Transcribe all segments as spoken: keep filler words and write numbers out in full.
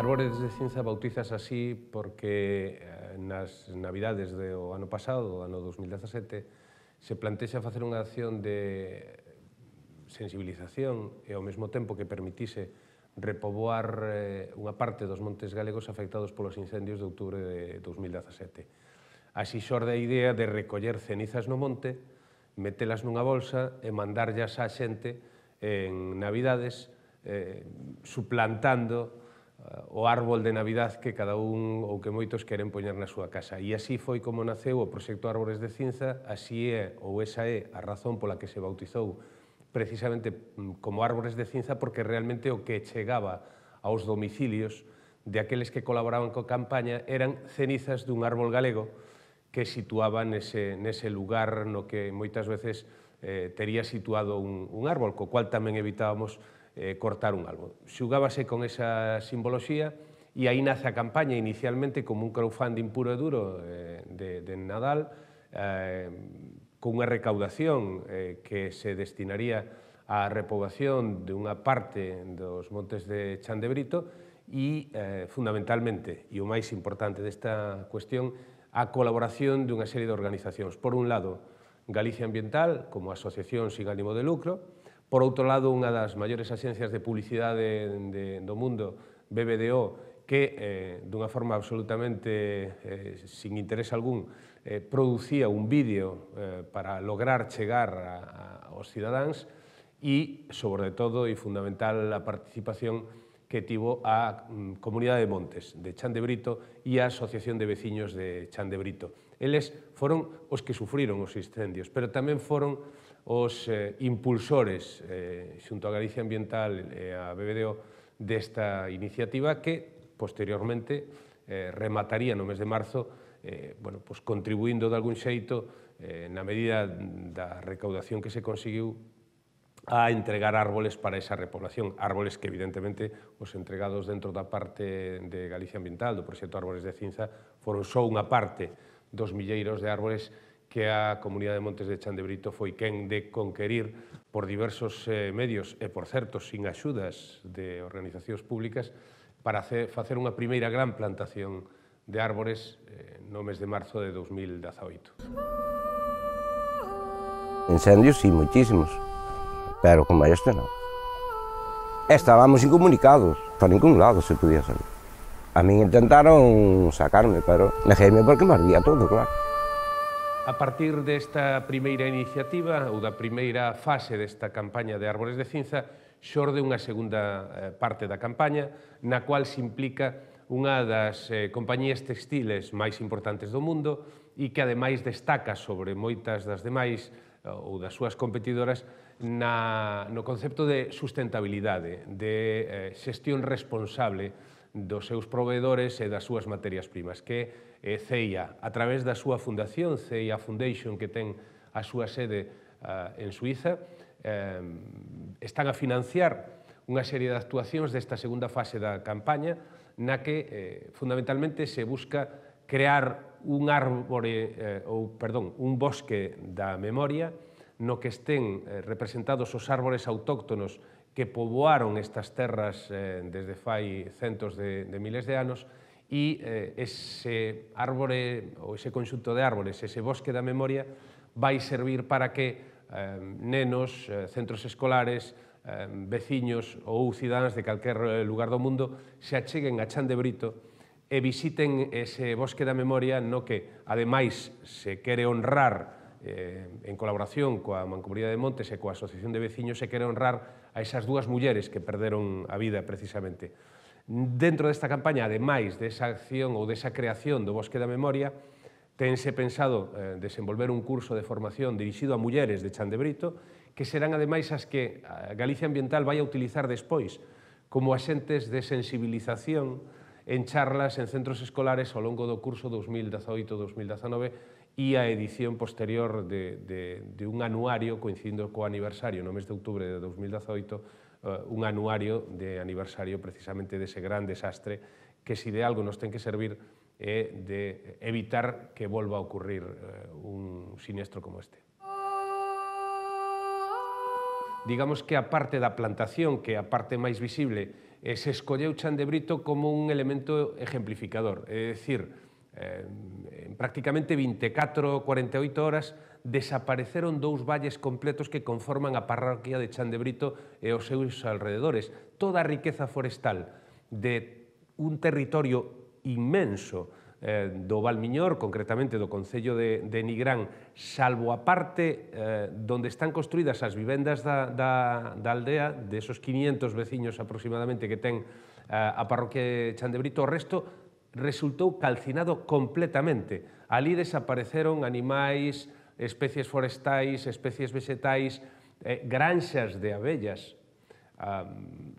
Árbores de Cinza bautizas así porque nas Navidades do ano pasado, do ano dos mil dezasete, se plantexa facer unha acción de sensibilización e ao mesmo tempo que permitise repoboar unha parte dos montes galegos afectados polos incendios de outubro de dos mil dezasete. Así xorde a idea de recoller cenizas no monte, metelas nunha bolsa e mandarllas á xente en Navidades, suplantando o árbol de Navidad que cada un ou que moitos queren poñer na súa casa. E así foi como naceu o proxecto Árbores de Cinza, así é, ou esa é, a razón pola que se bautizou precisamente como Árbores de Cinza, porque realmente o que chegaba aos domicilios de aqueles que colaboraban coa campaña eran cenizas dun árbol galego que situaba nese, nese lugar no que moitas veces eh, tería situado un, un árbol, co cual tamén evitábamos eh, cortar un árbol. Xugábase con esa simboloxía e aí nace a campaña inicialmente como un crowdfunding puro e duro eh, de, de Nadal, eh, con unha recaudación eh, que se destinaría á repoboación de unha parte dos montes de Chan de Brito e, eh, fundamentalmente, e o máis importante desta cuestión, a colaboración dunha serie de organizacións. Por un lado, Galicia Ambiental, como asociación sin ánimo de lucro. Por outro lado, unha das maiores axencias de publicidade de, do mundo, B B D O, que, eh, dunha forma absolutamente eh, sin interés algún, eh, producía un vídeo eh, para lograr chegar a, a, aos cidadáns e, sobre todo, e fundamental, a participación que tivo a mm, Comunidade de Montes de Chan de Brito e a Asociación de Veciños de Chan de Brito. Eles foron os que sufriron os incendios, pero tamén foron os eh, impulsores, eh, xunto a Galicia Ambiental e a B B D O, desta iniciativa que, posteriormente, eh, remataría no mes de marzo, eh, bueno, pues, contribuindo de algún xeito, eh, na medida da recaudación que se conseguiu, a entregar árboles para esa repoblación. Árboles que, evidentemente, os entregados dentro da parte de Galicia Ambiental, do proxecto Árbores de Cinza, foron só unha parte dos milleiros de árboles que a Comunidade de Montes de Chan de Brito foi quen de conquerir por diversos eh, medios e, por certo, sin axudas de organizacións públicas para facer unha primeira gran plantación de árbores eh, no mes de marzo de dos mil dezaoito. Incendios, sí, moitísimos, pero como este non. Estábamos incomunicados, por ningún lado se podía salir. A min intentaron sacarme, pero negueime porque me ardía todo, claro. A partir desta primeira iniciativa, ou da primeira fase desta campaña de Árbores de Cinza, xorde unha segunda parte da campaña, na cual se implica unha das eh, compañías textiles máis importantes do mundo e que, ademais, destaca sobre moitas das demais ou das súas competidoras na, no concepto de sustentabilidade, de eh, xestión responsable dos seus proveedores e das súas materias primas, que é C I A, a través da súa fundación, C I A Foundation, que ten a súa sede uh, en Suiza, eh, están a financiar unha serie de actuacións desta segunda fase da campaña, na que, eh, fundamentalmente, se busca crear un árbore, eh, ou, perdón, un bosque da memoria, no que estén eh, representados os árbores autóctonos que poboaron estas terras eh, desde fai centos de, de miles de anos, e eh, ese árbore, ou ese conxunto de árbores, ese bosque da memoria, vai servir para que eh, nenos, eh, centros escolares, eh, veciños ou cidadáns de calquer lugar do mundo se acheguen a Chan de Brito e visiten ese bosque da memoria no que, ademais, se quere honrar eh, en colaboración coa Mancomunidade de Montes e coa Asociación de Veciños, se quere honrar a esas dúas mulleres que perderon a vida precisamente. Dentro desta campaña, ademais desa acción ou desa creación do Bosque da Memoria, tense pensado eh, desenvolver un curso de formación dirixido a mulleres de Chan de Brito, que serán ademais as que a Galicia Ambiental vai a utilizar despois como axentes de sensibilización en charlas en centros escolares ao longo do curso dos mil dezaoito dos mil dezanove e a edición posterior de, de, de un anuario, coincidindo co aniversario no mes de outubro de dos mil dezaoito, un anuario de aniversario precisamente dese gran desastre que, se de algo nos ten que servir, é de evitar que volva a ocurrir un siniestro como este. Digamos que a parte da plantación, que é a parte máis visible, e se escolleu Chan de Brito como un elemento ejemplificador, é dicir, eh, en prácticamente vinte e catro, cuarenta e oito horas desapareceron dous valles completos que conforman a parroquia de Chan de Brito e os seus alrededores. Toda a riqueza forestal de un territorio inmenso eh, do Valmiñor, concretamente do concello de, de Nigrán, salvo a parte eh, donde están construídas as vivendas da, da, da aldea, de esos quinientos veciños aproximadamente que ten eh, a parroquia de Chan de Brito, o resto resultou calcinado completamente. Ali desapareceron animais, especies forestais, especies vegetais, eh, granxas de abellas. Um,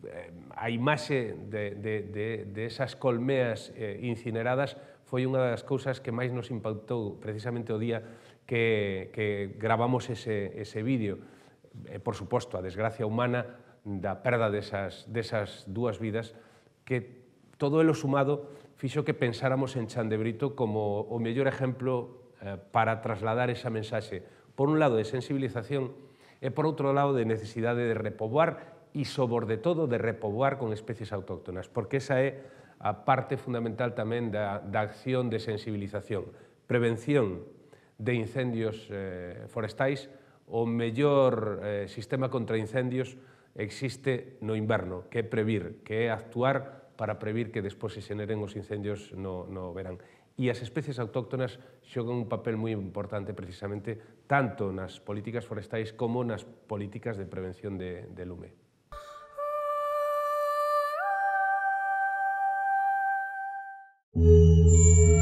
a imaxe de, de, de, de esas colmeas eh, incineradas foi unha das cousas que máis nos impactou precisamente o día que, que gravamos ese, ese vídeo. E, por suposto, a desgracia humana da perda desas, desas dúas vidas, que todo elo sumado fixo que pensáramos en Chan de Brito como o mellor exemplo eh, para trasladar esa mensaxe, por un lado de sensibilización e por outro lado de necesidade de repoboar e, sobre todo, de repoboar con especies autóctonas, porque esa é a parte fundamental tamén da, da acción de sensibilización. Prevención de incendios eh, forestais, o mellor eh, sistema contra incendios existe no inverno, que é previr, que é actuar para previr que despois se xeneren os incendios no, no verán. E as especies autóctonas xogan un papel moi importante precisamente tanto nas políticas forestais como nas políticas de prevención de, de lume. Música